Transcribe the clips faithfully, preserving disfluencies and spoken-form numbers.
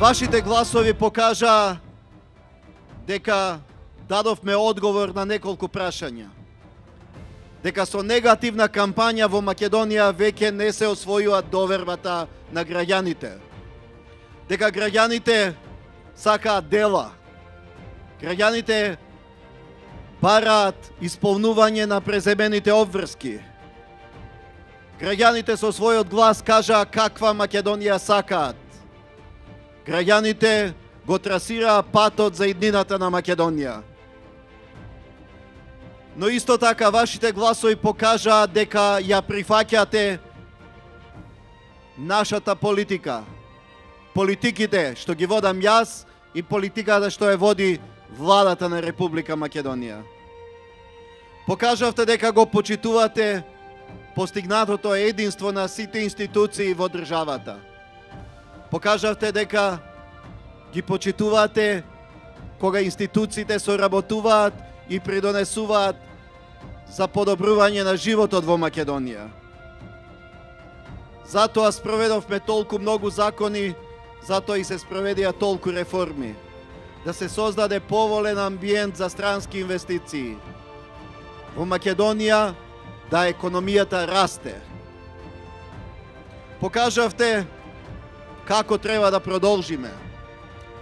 Вашите гласови покажа дека дадовме одговор на неколку прашања. Дека со негативна кампања во Македонија веќе не се освојува довербата на граѓаните. Дека граѓаните сакаат дела. Граѓаните бараат исполнување на преземените обврски. Граѓаните со својот глас кажаа каква Македонија сакаат. Граѓаните го трасираа патот за иднината на Македонија. Но исто така вашите гласови покажаа дека ја прифаќате нашата политика. Политиките што ги водам јас и политиката што ја води владата на Република Македонија. Покажавте дека го почитувате постигнатото единство на сите институции во државата. Покажавте дека ги почитувате кога институциите соработуваат и придонесуваат за подобрување на животот во Македонија. Затоа спроведовме толку многу закони, затоа и се спроведија толку реформи. Да се создаде поволен амбиент за странски инвестиции. Во Македонија да економијата расте. Покажавте како треба да продолжиме.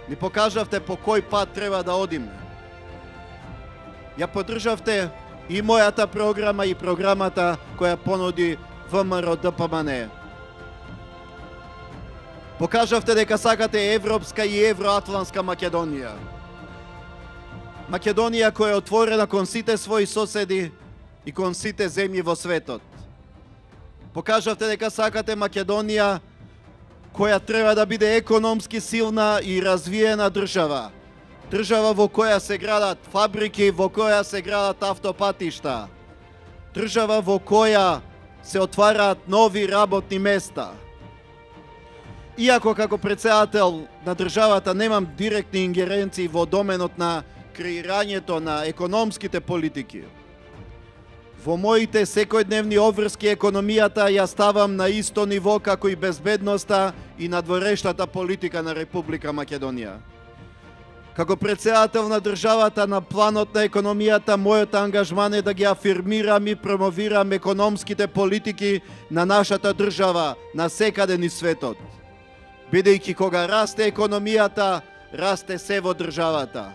Ни покажавте по кој пат треба да одиме. Ја поддржавте и мојата програма и програмата која понуди ВМРО Д П М Н. Покажавте дека сакате европска и евроатлантска Македонија. Македонија која е отворена кон сите своји соседи и кон сите земји во светот. Покажавте дека сакате Македонија која треба да биде економски силна и развиена држава. Држава во која се градат фабрики, во која се градат автопатишта. Држава во која се отвараат нови работни места. Иако како председател на државата немам директни ингеренции во доменот на креирањето на економските политики, во моите секојдневни обврски економијата ја ставам на исто ниво како и безбедноста и надворешната политика на Република Македонија. Како председател на државата на планот на економијата, мојот ангажман е да ги афирмирам и промовирам економските политики на нашата држава на секаде низ светот. Бидејќи кога расте економијата, расте се во државата.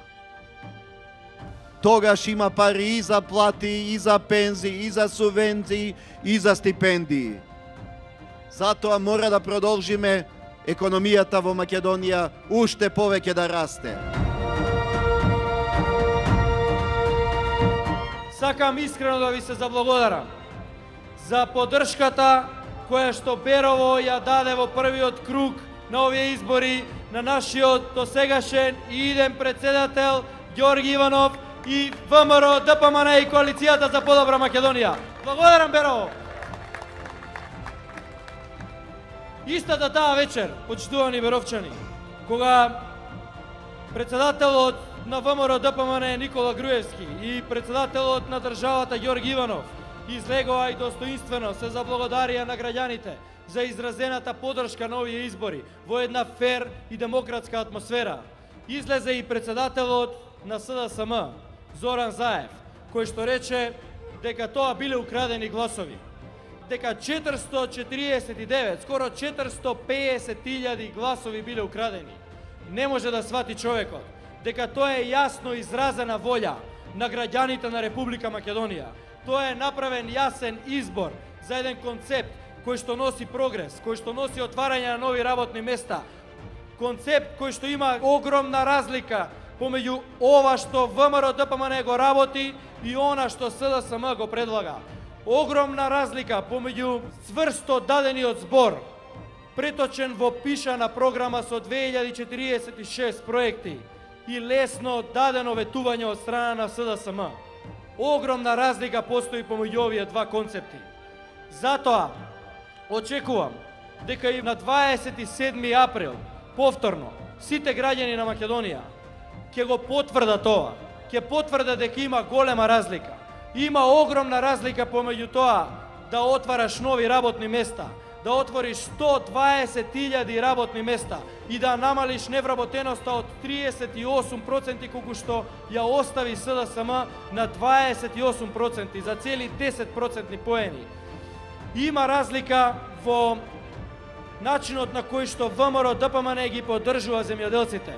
Тогаш има пари и за плати, и за пензии, и за субвенции, и за стипендии. Затоа мора да продолжиме економијата во Македонија уште повеќе да расте. Сакам искрено да ви се заблагодарам за поддршката која што Берово ја даде во првиот круг на овие избори на нашиот досегашен и иден председател Ѓорги Иванов и ВМРО Д П М Н и Коалицијата за подобра Македонија. Благодарам, Берово! Истата таа вечер, почитувани беровчани, кога председателот на ВМРО Д П М Н Никола Груевски и председателот на државата Ѓорги Иванов излегоа и достоинствено се заблагодарија на граѓаните за изразената поддршка на овие избори во една фер и демократска атмосфера. Излезе и председателот на С Д С М Зоран Заев, кој што рече дека тоа биле украдени гласови. Дека четиристо четиридесет и девет, скоро четиристо пеесет илјади гласови биле украдени. Не може да свати човекот дека тоа е јасно изразена волја на граѓаните на Република Македонија. Тоа е направен јасен избор за еден концепт кој што носи прогрес, кој што носи отварање на нови работни места. Концепт кој што има огромна разлика помеѓу ова што ВМРО Д П М Н го работи и она што С Д С М го предлага. Огромна разлика помеѓу цврсто дадениот збор, преточен во пишана програма со две илјади четиридесет и шест проекти и лесно дадено ветување од страна на С Д С М. Огромна разлика постои помеѓу овие два концепти. Затоа очекувам дека и на дваесет и седми април повторно сите граѓани на Македонија ќе го потврдат тоа, ќе потврдат дека има голема разлика. Има огромна разлика помеѓу тоа да отвараш нови работни места, да отвориш сто дваесет илјади работни места и да намалиш невработеноста од триесет и осум проценти колку што ја остави С Д С М на дваесет и осум проценти за цели десет процентни поени. Има разлика во начинот на кој што В М Р Д П М Н ги поддржува земјоделците.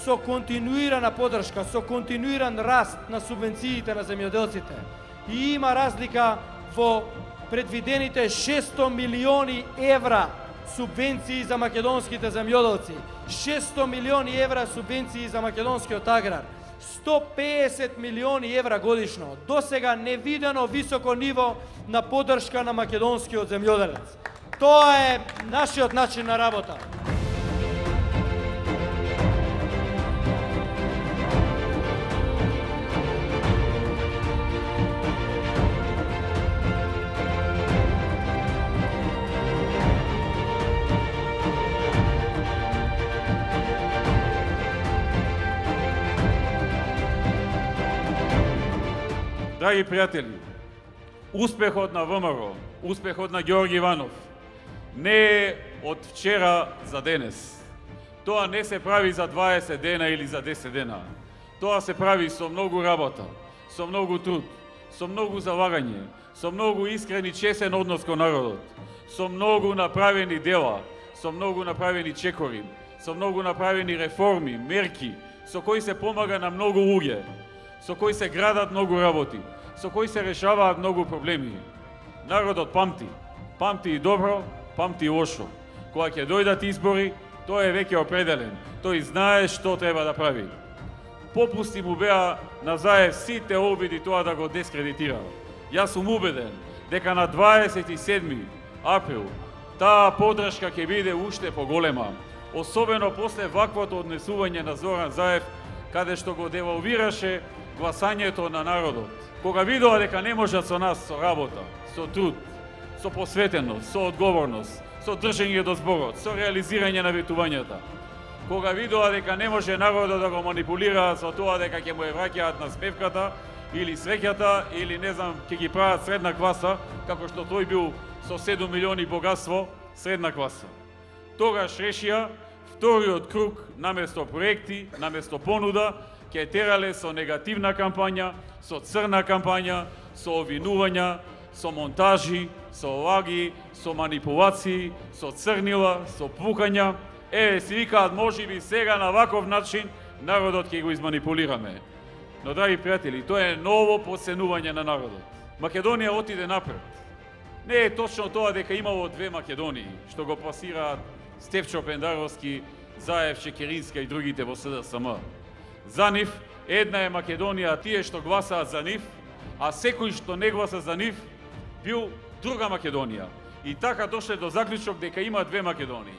Со континуирана поддршка, со континуиран раст на субвенциите на земјоделците. И има разлика во предвидените шестстотини милиони евра субвенции за македонските земјоделци, шестстотини милиони евра субвенции за македонскиот аграр, сто песет милиони евра годишно. Досега невидено високо ниво на поддршка на македонскиот земјоделец. Тоа е нашиот начин на работа. Драги пријатели, успехот на В М Р, успехот на Ѓорѓе Иванов не е од вчера за денес. Тоа не се прави за дваесет дена или за десет дена. Тоа се прави со многу работа, со многу труд, со многу залагање, со многу искрен и честен однос кон народот, со многу направени дела, со многу направени чекори, со многу направени реформи, мерки, со кои се помага на многу луѓе, со кои се градат многу работи, со кои се решаваат многу проблеми. Народот памти, памти и добро, памти и лошо. Кога ќе дојдат избори, тој е веќе определен, тој знае што треба да прави. Попусти му беа на Заев сите обиди тоа да го дискредитира. Јас сум убеден дека на дваесет и седми април таа поддршка ќе биде уште поголема, особено после ваквото однесување на Зоран Заев, каде што го девалвираше гласањето на народот. Кога видоа дека не можат со нас, со работа, со труд, со посветеност, со одговорност, со држење до зборот, со реализирање на ветувањата. Кога видоа дека не може народот да го манипулираат со тоа дека ќе му е враќаат на спевката или среќата или не знам ќе ги прават средна класа, како што тој бил со седум милиони богатство, средна класа. Тогаш решија вториот круг наместо проекти, наместо понуда, ќе терале со негативна кампања, со црна кампања, со обвинувања, со монтажи, со лаги, со манипулации, со црнила, со пукања. Е, си викаат, може би сега на ваков начин народот ќе го изманипулираме. Но, драги пријатели, тоа е ново подценување на народот. Македонија отиде напред. Не е точно тоа дека имало две Македонии, што го пласираат Стефчо Пендаровски, Заев, Чекеринска и другите во С Д С М. За нив, една е Македонија, тие што гласаат за нив, а секој што не гласа за нив, бил друга Македонија. И така дошле до заклучок дека има две Македонии.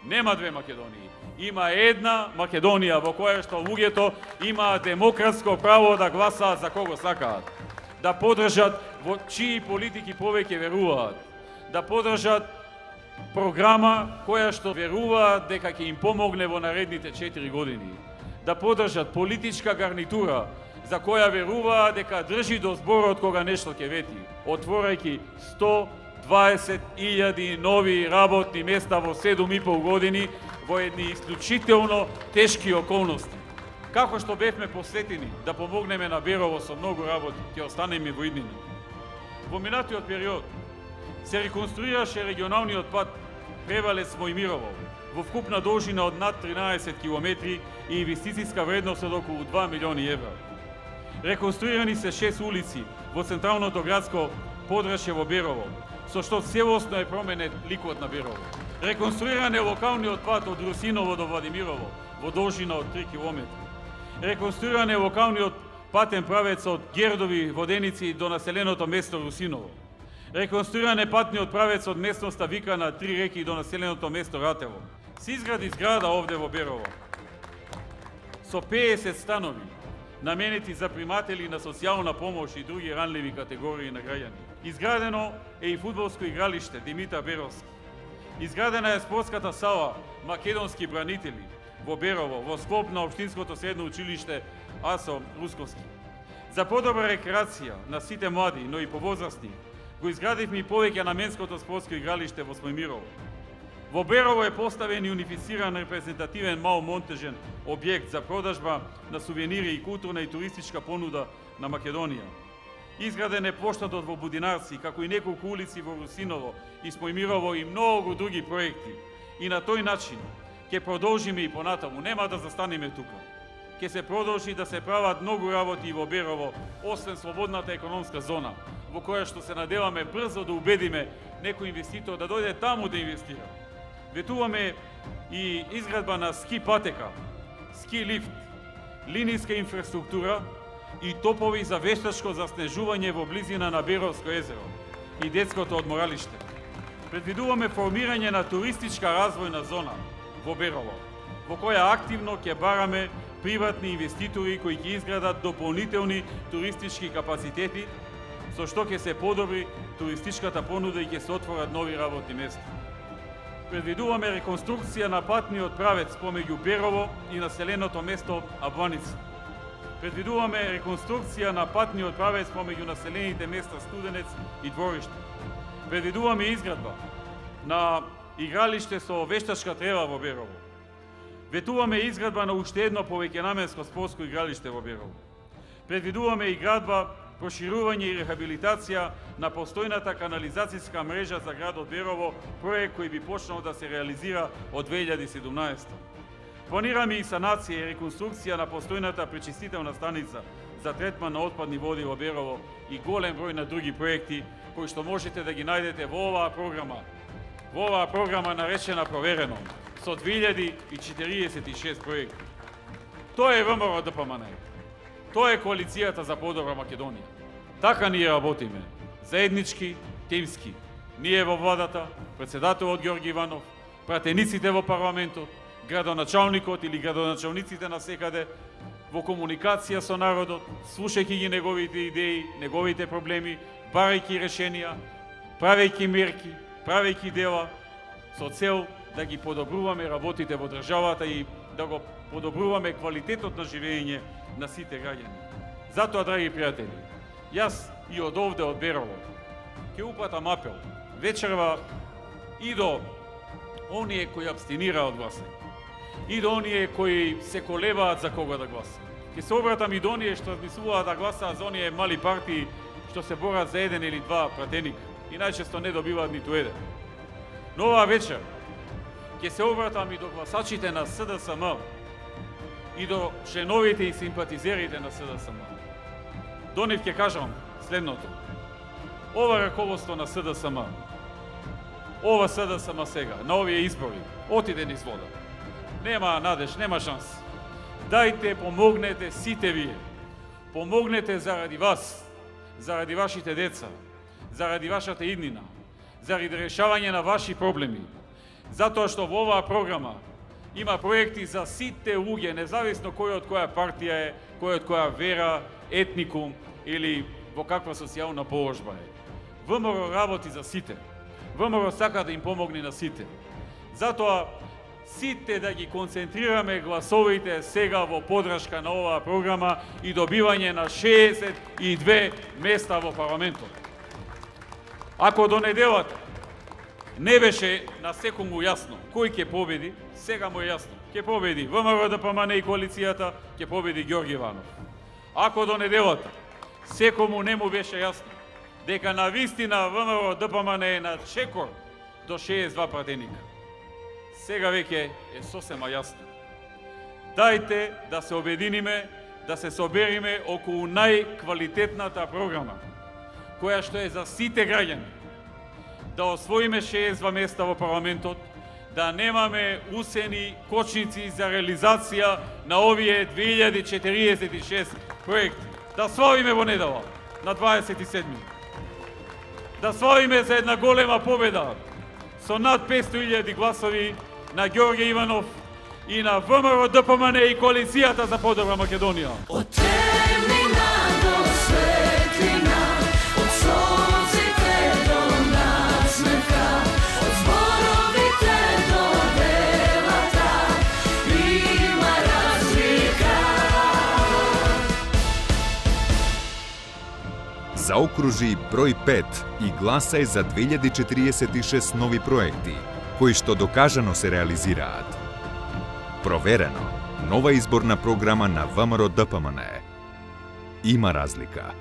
Нема две Македонии. Има една Македонија во која што луѓето имаат демократско право да гласаат за кого сакаат. Да поддржат во чии политики повеќе веруваат. Да поддржат програма која што веруваат дека ќе им помогне во наредните четири години. Да поддржат политичка гарнитура за која веруваат дека држи до зборот кога нешто ќе вети, отворајќи сто дваесет илјади нови работни места во седум и пол години во едни исклучително тешки околности. Како што бевме посветени да помогнеме на Берово со многу работи, ќе останеме во иднина. Во минатиот период се реконструираше регионалниот пат Превалец Мојмирово во вкупна должина од над тринаесет километри и инвестицијска вредност од околу два милиони евра. Реконструирани се шест улици во централното градско подрачје во Берово, со што целосно е променет ликот на Берово. Реконструиран е локалниот пат од Русиново до Владимирово во должина од три километри. Реконструиран е локалниот патен правец од Гердови Воденици до населеното место Русиново. Реконструиран е патниот правец од местноста Викана Три реки до населеното место Ратево. Се изгради зграда овде во Берово со пеесет станови наменети за приматели на социјална помош и други ранливи категории на граѓани. Изградено е и фудбалско игралиште Димитар Беровски. Изградена е спортската сала Македонски бранители во Берово во склоп на Општинското средно училиште Асо Русковски. За подобра рекреација на сите млади, но и повозрастни, Го изградивме и повеќе наменското спортско игралиште во Смојмирово. Во Берово е поставен и унифициран репрезентативен маломонтежен објект за продажба на сувенири и културна и туристичка понуда на Македонија. Изграден е плоштадот во Будинарци, како и неколку улици во Русиново и Смојмирово и многу други проекти. И на тој начин ќе продолжиме и понатаму, нема да застанеме тука. Ќе се продолжи да се прават многу работи и во Берово, освен слободната економска зона, во која што се надеваме брзо да убедиме некој инвеститор да дојде таму да инвестира. Ветуваме и изградба на ски патека, ски лифт, линиска инфраструктура и топови за вештачко заснежување во близина на Беровско езеро и детското одморалиште. Предвидуваме формирање на туристичка развојна зона во Берово, во која активно ќе бараме приватни инвеститори кои ќе изградат дополнителни туристички капацитети, со што ќе се подобри туристичката понуда и ќе се отворат нови работни места. Предвидуваме реконструкција на патниот правец помеѓу Берово и населеното место Абланица. Предвидуваме реконструкција на патниот правец помеѓу населените места Студенец и Двориште. Предвидуваме изградба на игралиште со вештачка трева во Берово. Ветуваме изградба на уште едно повеќенаменско спортско игралиште во Берово. Предвидуваме и градба, проширување и рехабилитација на постојната канализацијска мрежа за градот Берово, проект кој би почнал да се реализира од две илјади и седумнаесета. Планираме и санација и реконструкција на постојната пречистителна станица за третман на отпадни води во Берово и голем број на други проекти кои што можете да ги најдете во оваа програма. Во оваа програма наречена Проверено, со две илјади и четириесет и шест проекти. Тоа е ВМРО ДПМН. Тоа е коалицијата за подобра Македонија. Така ние работиме, заеднички, тимски. Ние во владата, председателот Ѓорги Иванов, пратениците во парламентот, градоначалникот или градоначалниците навсекаде, во комуникација со народот, слушајќи ги неговите идеи, неговите проблеми, барајќи решенија, правејќи мерки, правејќи дела, со цел да ги подобруваме работите во државата и да го подобруваме квалитетот на живење на сите граѓани. Затоа, драги пријатели, јас и од овде, од Берово, ќе упатам апел вечерва и до оние кои абстинира од гласање, и до оние кои се колебаат за кого да гласаат. Ќе се обратам и до оние што мислуваат да гласаат за оние мали партии што се борат за еден или два пратеника и најчесто не добиваат ниту еден. Но оваа вечер ќе се обратам и до гласачите на СДСМ и до членовите и симпатизерите на СДСМ. До нив ќе кажам следното. Ова раководство на СДСМ, ова СДСМ сега, на овие избори, отиде низ вода. Нема надеж, нема шанс. Дајте, помогнете сите вие. Помогнете заради вас, заради вашите деца, заради вашата иднина, заради решавање на ваши проблеми. Затоа што во оваа програма има проекти за сите луѓе, независно кој од која партија е, кој од која вера, етникум или во каква социјална положба е. ВМРО работи за сите. ВМРО сака да им помогне на сите. Затоа сите да ги концентрираме гласовите сега во подршка на оваа програма и добивање на шеесет и две места во парламентот. Ако до неделата не беше на секому јасно кој ќе победи, сега му е јасно. Ќе победи ВМРО ДПМН и коалицијата, ќе победи Ѓорги Иванов. Ако до неделата секому не му беше јасно дека на вистина ВМРО ДПМН е на чекор до шеесет и два пратеника, сега веќе е сосема јасно. Дајте да се обединиме, да се собериме околу најквалитетната програма, која што е за сите граѓани, да освоиме шеесет и два места во парламентот, да немаме усени кочници за реализација на овие две илјади четириесет и шест проекти. Да славиме во недела на дваесет и седми. Да славиме за една голема победа со над петстотини илјади гласови на Ѓорѓе Иванов и на ВМРО ДПМН и коалицијата за подобра Македонија. Од темнина до светлина, од солзите до насмевка, од зборовите до делата, има разлика. Заокружи број пет и гласај за две илјади четириесет и шест нови проекти, кои што докажано се реализираат. Проверено, нова изборна програма на ВМРО Д П М Н. Има разлика.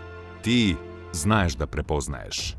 Ти знаеш да препознаеш.